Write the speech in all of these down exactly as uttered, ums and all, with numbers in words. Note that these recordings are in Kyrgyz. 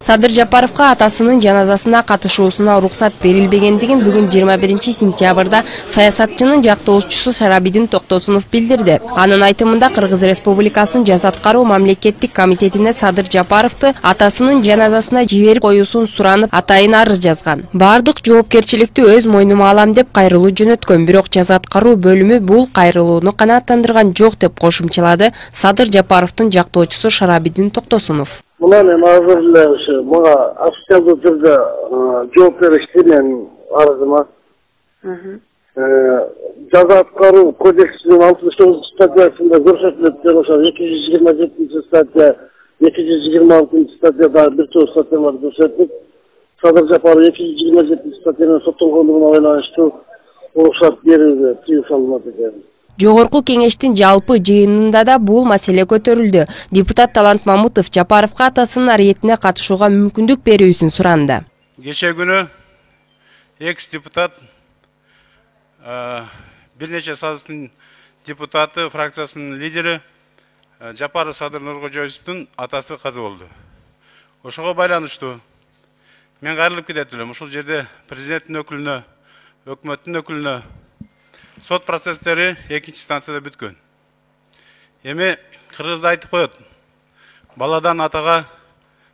Садыр Жапаровга атасынын жаназасына катышуусуна уруксат берилбегендигин бүгүн жыйырма биринчи сентябрда саясатчынын жактоочусу Шарабидин Токтосунов билдирди. Анын айтымында Кыргыз Республикасынын жаза аткаруу мамлекеттик комитетине Садыр Жапаровду атасынын жаназасына жиберип коюусун суранып, атайын арыз жазган. Бардык жоопкерчиликти өз мойнума алам деп кайрылуу жөнөткөн, бирок жаза аткаруу бөлүмү бул кайрылууну канааттандырган жок деп кошумчалады Садыр Жапаровдун жактоочусу Шарабидин Токтосунов. Мына мен азыр эле ушу мага официалдуу түрдө жооп беришти менин арызыма. Жаза аткаруу кодексинин алтымыш тогузунчу статьясында көрсөтүлөт деп ошо эки жүз жыйырма жетинчи статья, эки жүз жыйырма алтынчы статьяда бир топ статьялар көрсөтүлүп, Садыр Жапаров эки жүз жыйырма жетинчи статьядан соттолгондугуна байланыштуу уруксат берүүгө тыюу салынат экен. Жогорку кеңештин жалпы жыйынында да бул маселе көтөрүлдү. Депутат Талант Мамутов Жапаровго атасынын ариетине катышууга мүмкүндүк берүүсүн суранды. Кече күнү экс-депутат бир нече сазыктын депутаты, фракциясынын лидери Жапаров Садыр Нуркожоевичтин атасы каза болду. Ошого байланыштуу мен кайрылып кетет элем. Ушул жерде президенттин өкүлүнө, өкмөттүн өкүлүнө сот процесстери экинчи станцияда бүткөн. Эми кыргызда айтып коет, баладан атага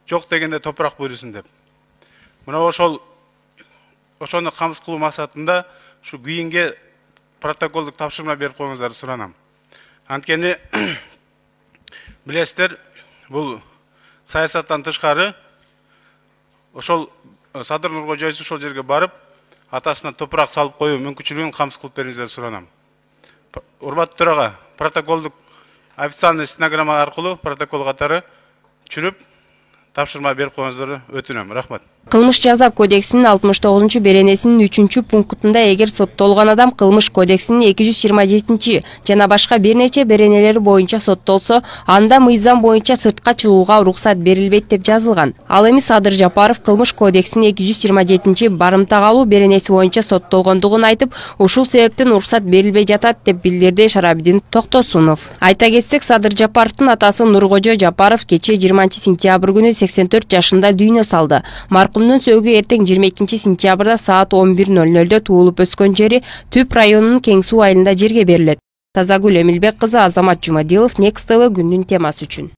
жок дегенде топурак буйрусун деп. Мына ошол ошону камсыз кылуу максатында ушу кийинге протоколдук тапшырма берип коюңуздарды суранам. Анткени билесиздер, бул саясаттан тышкары ошол Садыр Нуркожоевич ошол жерге барып атасына топурак салып коюу мүмкүнчүлүгүн камсыз кылып бериңиздерди суранам. Урматтуу төрага, протоколдук официальный стенограмма аркылуу протокол катары түшүрүп тапшырма берип коюңуздарды өтүнөм. Рахмат. Кылмыш жаза кодексинин алтымыш тогузунчу беренесинин үчүнчү пунктунда эгер соттолгон адам кылмыш кодексинин эки жүз жыйырма жетинчи жана башка бир нече беренелери боюнча соттолсо, анда мыйзам боюнча сыртка чыгууга уруксат берилбейт деп жазылган. Ал эми Садыр Жапаров кылмыш кодексинин эки жүз жыйырма жетинчи барымта калуу беренеси боюнча соттолгондугун айтып, ушул себептен уруксат берилбей жатат деп билдирди Шарабидин Токтосунов. Айта кетсек, Садыр Жапаровдун атасы Нуркожо Жапаров кече жыйырманчы сентябрь күнү сексен төрт жашында дүйнө салды. Маркумдун сөөгү эртең жыйырма экинчи сентябрда саат он бир ноль нольдо туулуп өскөн жери Түп районунун Кең суу айылында жерге берилет. Тазагүл Эмилбек кызы, Азамат Жумадилов, Next тэ вэ күндүн темасы үчүн.